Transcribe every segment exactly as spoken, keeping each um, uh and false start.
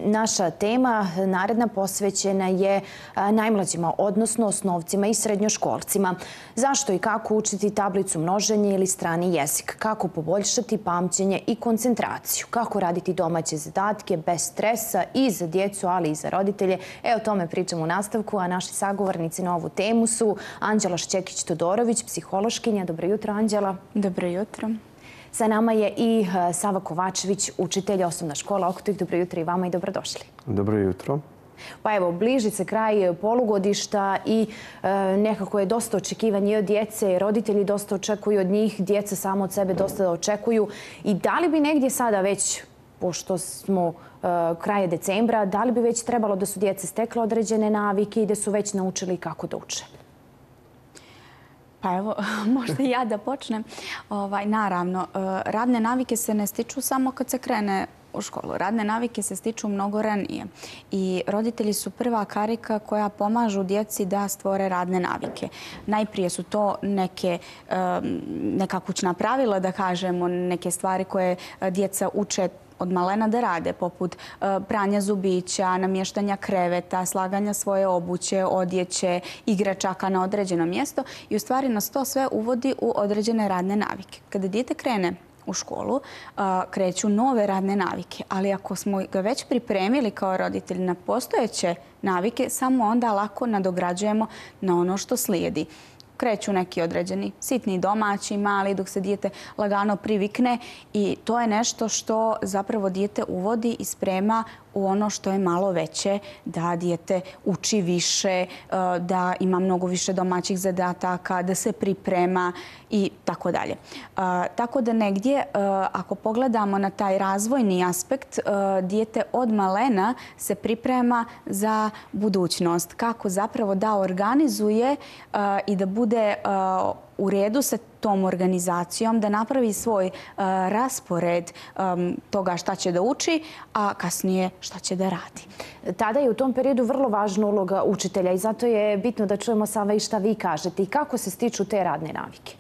Naša tema naredna posvećena je najmlađima, odnosno osnovcima i srednjoškolcima. Zašto i kako učiti tablicu množenja ili strani jezik? Kako poboljšati pamćenje i koncentraciju? Kako raditi domaće zadatke bez stresa i za djecu, ali i za roditelje? E, o tome pričamo u nastavku, a naši sagovornici na ovu temu su Anđela Šćekić-Todorović, psihološkinja. Dobro jutro, Anđela. Dobro jutro. Sa nama je i Sava Kovačević, učitelj osnovna škola Okutih. Dobro jutro i vama i dobrodošli. Dobro jutro. Pa evo, bliži se kraj polugodišta i e, nekako je dosta očekivanje od djece. Roditelji dosta očekuju od njih, djeca samo od sebe dosta očekuju. I da li bi negdje sada već, pošto smo e, kraje decembra, da li bi već trebalo da su djece stekle određene navike i da su već naučili kako da uče? Pa evo, možda i ja da počnem. Ovaj, naravno, radne navike se ne stiču samo kad se krene u školu. Radne navike se stiču mnogo ranije. I roditelji su prva karika koja pomažu djeci da stvore radne navike. Najprije su to neke, neka kućna pravila, da kažemo, neke stvari koje djeca uče od malena da rade, poput pranja zubića, namještanja kreveta, slaganja svoje obuće, odjeće, igračaka na određeno mjesto. I u stvari nas to sve uvodi u određene radne navike. Kada dijete krene u školu, kreću nove radne navike. Ali ako smo ga već pripremili kao roditelji na postojeće navike, samo onda lako nadograđujemo na ono što slijedi. Kreću neki određeni sitni domaći, mali, dok se dijete lagano privikne i to je nešto što zapravo dijete uvodi i sprema u ono što je malo veće, da dijete uči više, da ima mnogo više domaćih zadataka, da se priprema i tako dalje. Tako da negdje, ako pogledamo na taj razvojni aspekt, dijete od malena se priprema za budućnost. Kako zapravo da organizuje i da bude u redu sa tom organizacijom, da napravi svoj raspored toga šta će da uči, a kasnije šta će da radi. Tada je u tom periodu vrlo važna uloga učitelja i zato je bitno da čujemo, Sava, i šta vi kažete i kako se stiču te radne navike.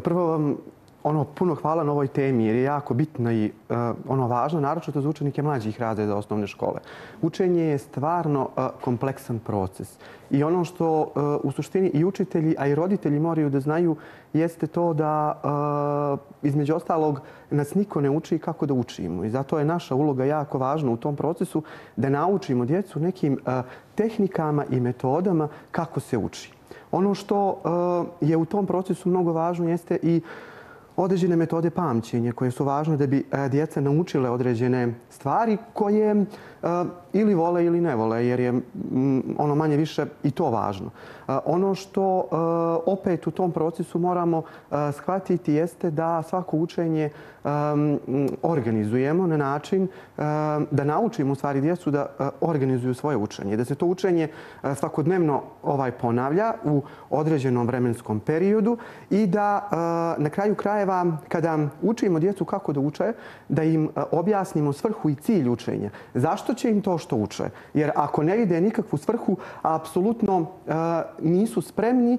Prvo vam ono, puno hvala na ovoj temi jer je jako bitno i uh, ono važno, naročito za učenike mlađih razreda osnovne škole. Učenje je stvarno uh, kompleksan proces. I ono što uh, u suštini i učitelji, a i roditelji moraju da znaju jeste to da uh, između ostalog nas niko ne uči kako da učimo. I zato je naša uloga jako važna u tom procesu da naučimo djecu nekim uh, tehnikama i metodama kako se uči. Ono što uh, je u tom procesu mnogo važno jeste i određene metode pamćenja koje su važne da bi djeca naučile određene stvari koje ili vole ili ne vole, jer je ono manje više i to važno. Ono što opet u tom procesu moramo shvatiti jeste da svako učenje organizujemo na način da naučimo u stvari djecu da organizuju svoje učenje. Da se to učenje svakodnevno ovaj ponavlja u određenom vremenskom periodu i da na kraju krajeva kada učimo djecu kako da uče, da im objasnimo svrhu i cilj učenja. Zašto će im to što uče? Jer ako ne vide nikakvu svrhu, apsolutno nisu spremni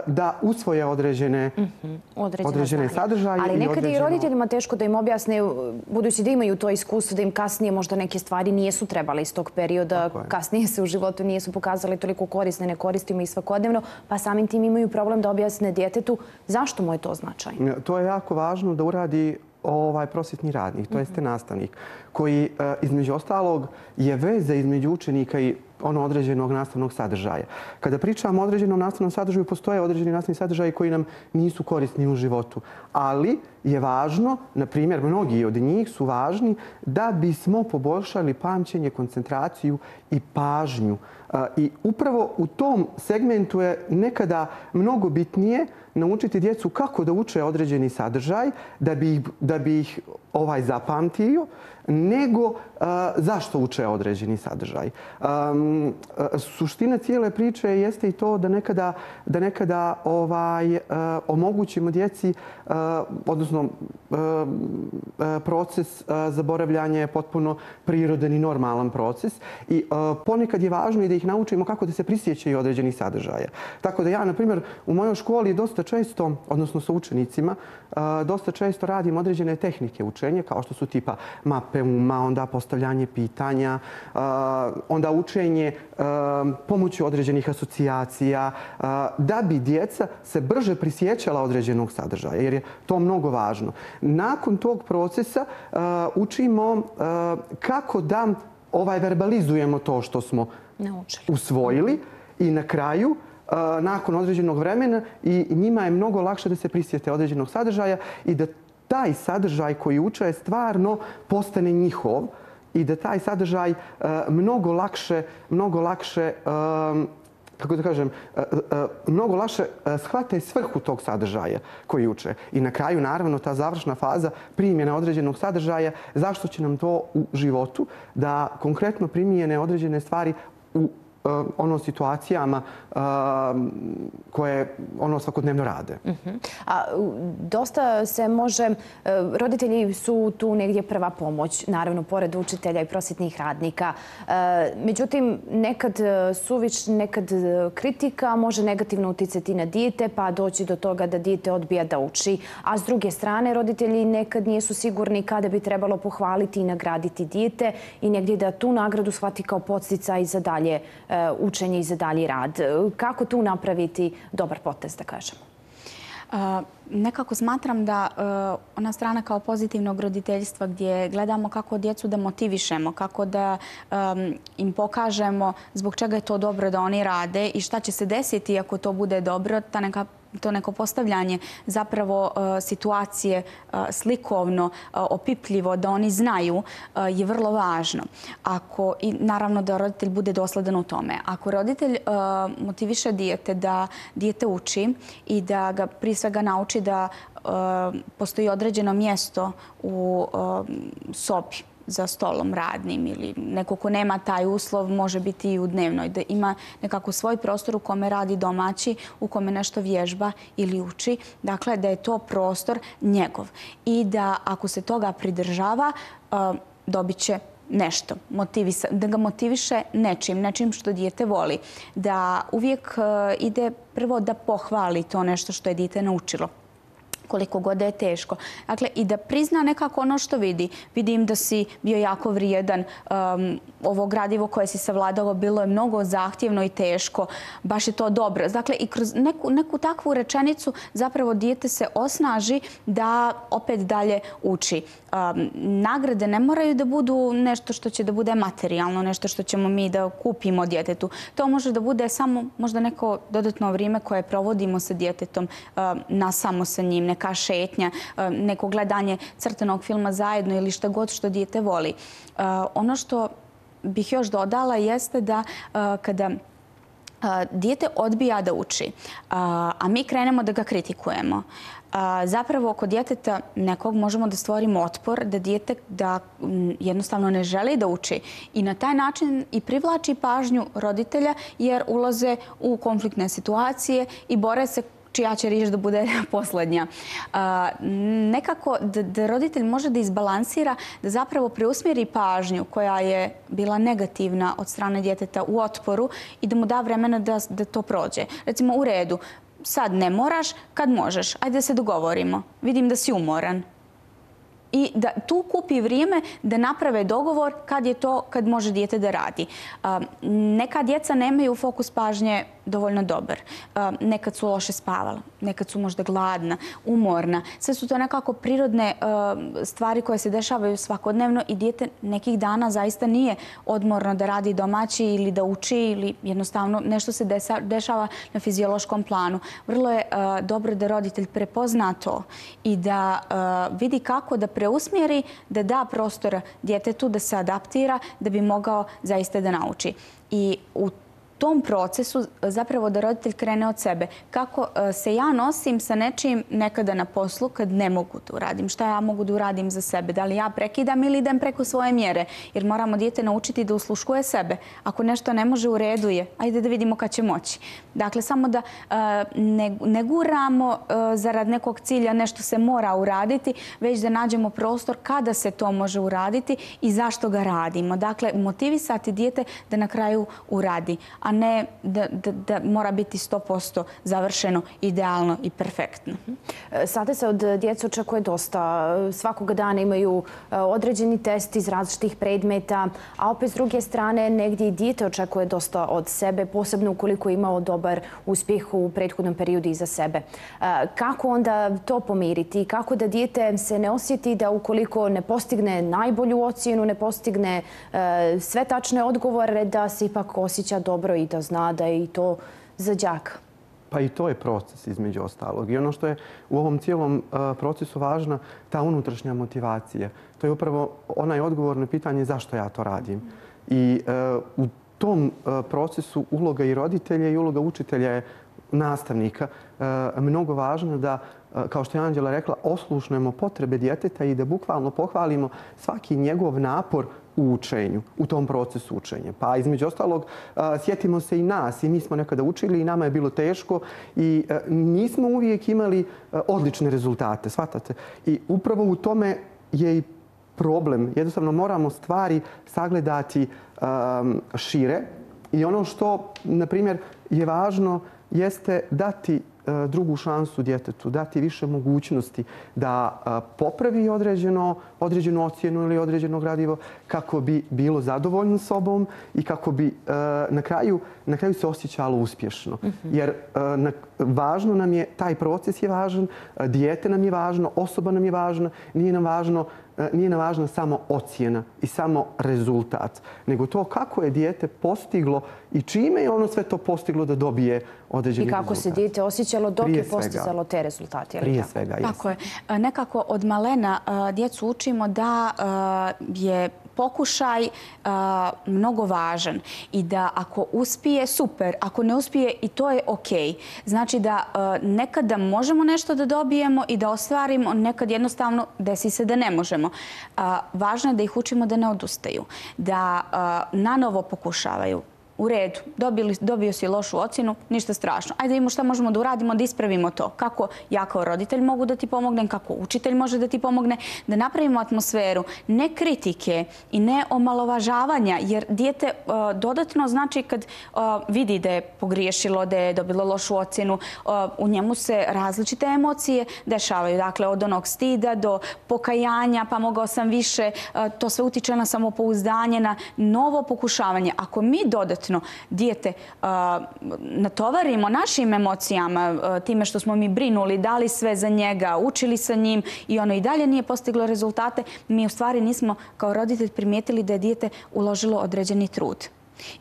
da usvoje određene, mm-hmm. određene, određene sadržaje. Ali nekad određeno... i roditeljima teško da im objasne, budući da imaju to iskustvo, da im kasnije možda neke stvari nijesu trebale iz tog perioda, kasnije se u životu nijesu pokazali toliko korisne, ne koristimo i svakodnevno, pa samim tim imaju problem da objasne djetetu zašto mu je to značajno. To je jako važno da uradi ovaj prosvjetni radnik, to jeste nastavnik, koji između ostalog je veza između učenika i ono određenog nastavnog sadržaja. Kada pričamo o određenom nastavnom sadržaju, postoje određeni nastavni sadržaji koji nam nisu korisni u životu. Ali je važno, na primjer, mnogi od njih su važni da bismo poboljšali pamćenje, koncentraciju i pažnju. I upravo u tom segmentu je nekada mnogo bitnije naučiti djecu kako da uče određeni sadržaj da bi ih, da bi ih ovaj zapamtio, nego uh, zašto uče određeni sadržaj. Um, suština cijele priče jeste i to da nekada, da nekada ovaj, uh, omogućimo djeci, uh, odnosno uh, proces uh, zaboravljanja je potpuno prirodan i normalan proces i uh, ponekad je važno i da ih naučimo kako da se prisjećaju određenih sadržaja. Tako da ja, na primjer, u mojoj školi dosta često, odnosno sa učenicima, uh, dosta često radim određene tehnike učenja, kao što su tipa map mape uma, onda postavljanje pitanja, onda učenje pomoću određenih asocijacija, da bi djeca se brže prisjećala određenog sadržaja, jer je to mnogo važno. Nakon tog procesa učimo kako da ovaj verbalizujemo to što smo usvojili i na kraju, nakon određenog vremena, i njima je mnogo lakše da se prisjete određenog sadržaja i da taj sadržaj koji uče stvarno postane njihov i da taj sadržaj mnogo lakše, mnogo lakše, kako da kažem, mnogo lakše shvate svrhu tog sadržaja koji uče. I na kraju, naravno, ta završna faza primjena određenog sadržaja, zašto će nam to u životu da konkretno primijene određene stvari u ono situacijama koje ono svakodnevno rade. A dosta se može, roditelji su tu negdje prva pomoć, naravno, pored učitelja i prosvjetnih radnika. Međutim, nekad suviš, nekad kritika može negativno uticati na dijete, pa doći do toga da dijete odbija da uči. A s druge strane, roditelji nekad nisu sigurni kada bi trebalo pohvaliti i nagraditi dijete i negdje da tu nagradu shvati kao podsticaj za dalje učenje i za dalji rad. Kako tu napraviti dobar potez, da kažemo? Nekako smatram da ona strana kao pozitivnog roditeljstva gdje gledamo kako djecu da motivišemo, kako da im pokažemo zbog čega je to dobro da oni rade i šta će se desiti ako to bude dobro, ta neka to neko postavljanje zapravo situacije slikovno, opipljivo, da oni znaju, je vrlo važno. Ako, i naravno da roditelj bude dosledan u tome. Ako roditelj motiviše dijete da dijete uči i da ga prije svega nauči da postoji određeno mjesto u sobi za stolom radnim ili neko ko nema taj uslov, može biti i u dnevnoj, da ima nekako svoj prostor u kome radi domaći, u kome nešto vježba ili uči. Dakle, da je to prostor njegov. I da ako se toga pridržava, dobit će nešto. Da ga motiviše nečim, nečim što dijete voli. Da uvijek ide prvo da pohvali to nešto što je dijete naučilo, koliko god da je teško. Dakle, i da prizna nekako ono što vidi. Vidim da si bio jako vrijedan. Ovo gradivo koje si savladalo bilo je mnogo zahtjevno i teško. Baš je to dobro. Dakle, i kroz neku, neku takvu rečenicu zapravo dijete se osnaži da opet dalje uči. Nagrade ne moraju da budu nešto što će da bude materijalno, nešto što ćemo mi da kupimo djetetu. To može da bude samo možda neko dodatno vrijeme koje provodimo sa djetetom, na samo sa njim, neka šetnja, neko gledanje crtanog filma zajedno ili šta god što dijete voli. Ono što bih još dodala jeste da kada dijete odbija da uči, a mi krenemo da ga kritikujemo, zapravo kod djeteta nekog možemo da stvorimo otpor, da dijete da jednostavno ne želi da uči i na taj način i privlači pažnju roditelja jer ulaze u konfliktne situacije i bore se čija će riječ da bude posljednja. Nekako da roditelj može da izbalansira, da zapravo preusmjeri pažnju koja je bila negativna od strane djeteta u otporu i da mu da vremena da to prođe. Recimo, u redu, sad ne moraš, kad možeš, ajde da se dogovorimo. Vidim da si umoran. I da tu kupi vrijeme da naprave dogovor kad je to, kad može dijete da radi. Neka djeca nemaju fokus pažnje dovoljno dobar. Nekad su loše spavala, nekad su možda gladna, umorna. Sve su to nekako prirodne stvari koje se dešavaju svakodnevno i dijete nekih dana zaista nije odmorno da radi domaći ili da uči ili jednostavno nešto se dešava na fiziološkom planu. Vrlo je dobro da roditelj prepozna to i da vidi kako da preusmjeri, da da prostora djetetu da se adaptira da bi mogao zaista da nauči. I u tom procesu zapravo da roditelj krene od sebe. Kako se ja nosim sa nečim nekada na poslu kad ne mogu da uradim? Šta ja mogu da uradim za sebe? Da li ja prekidam ili idem preko svoje mjere? Jer moramo dijete naučiti da usluškuje sebe. Ako nešto ne može, u redu je. Ajde da vidimo kad će moći. Dakle, samo da ne guramo zarad nekog cilja, nešto se mora uraditi, već da nađemo prostor kada se to može uraditi i zašto ga radimo. Dakle, motivisati dijete da na kraju uradi. A ne da, da, da mora biti sto posto završeno, idealno i perfektno. Sada se od djece očekuje dosta. Svakoga dana imaju određeni test iz različitih predmeta, a opet s druge strane negdje i dijete očekuje dosta od sebe, posebno ukoliko je imao dobar uspjeh u prethodnom periodu iza sebe. Kako onda to pomiriti? Kako da dijete se ne osjeti da ukoliko ne postigne najbolju ocjenu, ne postigne sve tačne odgovore, da se ipak osjeća dobro i da zna da je i to za đaka? Pa i to je proces između ostalog. I ono što je u ovom cijelom procesu važna, ta unutrašnja motivacija. To je upravo onaj odgovor na pitanje zašto ja to radim. I u tom procesu uloga i roditelja i uloga učitelja je nastavnika mnogo važna da, kao što je Anđela rekla, oslušnemo potrebe djeteta i da bukvalno pohvalimo svaki njegov napor u učenju, u tom procesu učenja. Pa između ostalog, sjetimo se i nas. I mi smo nekada učili i nama je bilo teško i nismo uvijek imali odlične rezultate, shvatate? I upravo u tome je i problem. Jednostavno moramo stvari sagledati šire i ono što, na primjer, je važno jeste dati drugu šansu djetetu, dati više mogućnosti da popravi određeno, određenu ocjenu ili određeno gradivo kako bi bilo zadovoljno sobom i kako bi na kraju, na kraju se osjećalo uspješno. Jer važno nam je, taj proces je važan, dijete nam je važno, osoba nam je važna, nije nam važno nije nam važna samo ocjena i samo rezultat, nego to kako je dijete postiglo i čime je ono sve to postiglo da dobije određeni rezultat. I kako se dijete osjećalo dok je postizalo te rezultate. Prije svega, jes. Tako je. Nekako od malena djecu učimo da je pokušaj mnogo važan i da ako uspije, super. Ako ne uspije, i to je okej. Znači da nekada možemo nešto da dobijemo i da ostvarimo, nekad jednostavno desi se da ne možemo. Važno je da ih učimo da ne odustaju, da nanovo pokušavaju. U redu, dobili, dobio si lošu ocjenu, ništa strašno. Ajde vidimo šta možemo da uradimo, da ispravimo to. Kako ja kao roditelj mogu da ti pomognem, kako učitelj može da ti pomogne, da napravimo atmosferu ne kritike i ne omalovažavanja, jer dijete uh, dodatno znači kad uh, vidi da je pogriješilo, da je dobilo lošu ocjenu, uh, u njemu se različite emocije dešavaju. Dakle, od onog stida do pokajanja, pa mogao sam više, uh, to sve utiče na samopouzdanje, na novo pokušavanje. Ako mi dodatno dijete uh, natovarimo našim emocijama, uh, time što smo mi brinuli, dali sve za njega, učili sa njim i ono i dalje nije postiglo rezultate, mi u stvari nismo kao roditelj primijetili da je dijete uložilo određeni trud.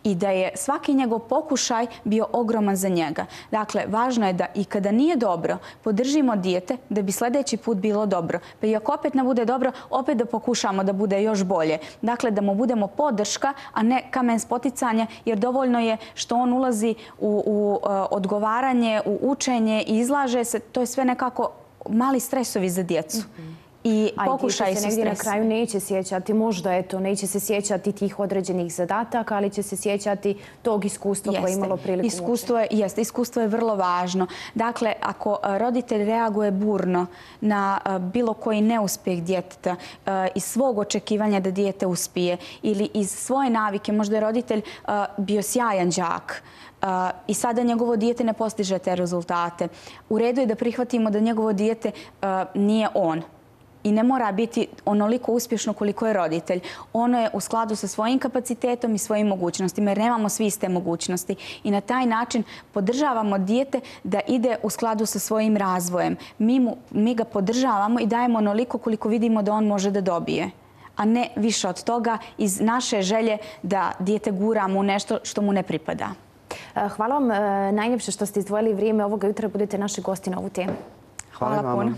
I da je svaki njegov pokušaj bio ogroman za njega. Dakle, važno je da i kada nije dobro, podržimo dijete da bi sljedeći put bilo dobro. Pa i ako opet ne bude dobro, opet da pokušamo da bude još bolje. Dakle, da mu budemo podrška, a ne kamen spoticanja, jer dovoljno je što on ulazi u, u uh, odgovaranje, u učenje i izlaže se. To je sve nekako mali stresovi za djecu. Mm-hmm. I pokušaj se negdje na kraju neće sjećati, možda eto, neće se sjećati tih određenih zadataka, ali će se sjećati tog iskustva koje je imalo priliku. Iskustvo je, jeste, iskustvo je vrlo važno. Dakle, ako roditelj reaguje burno na bilo koji neuspjeh djeteta iz svog očekivanja da dijete uspije ili iz svoje navike, možda je roditelj bio sjajan đak, Uh, i sada njegovo dijete ne postiže te rezultate. U redu je da prihvatimo da njegovo dijete uh, nije on. I ne mora biti onoliko uspješno koliko je roditelj. Ono je u skladu sa svojim kapacitetom i svojim mogućnostima, jer nemamo svi iste mogućnosti. I na taj način podržavamo dijete da ide u skladu sa svojim razvojem. Mi, mu, mi ga podržavamo i dajemo onoliko koliko vidimo da on može da dobije, a ne više od toga iz naše želje da dijete guramo u nešto što mu ne pripada. Hvala vam najljepše što ste izdvojili vrijeme ovoga jutra. Budete naši gosti na ovu temu. Hvala, Hvala puno.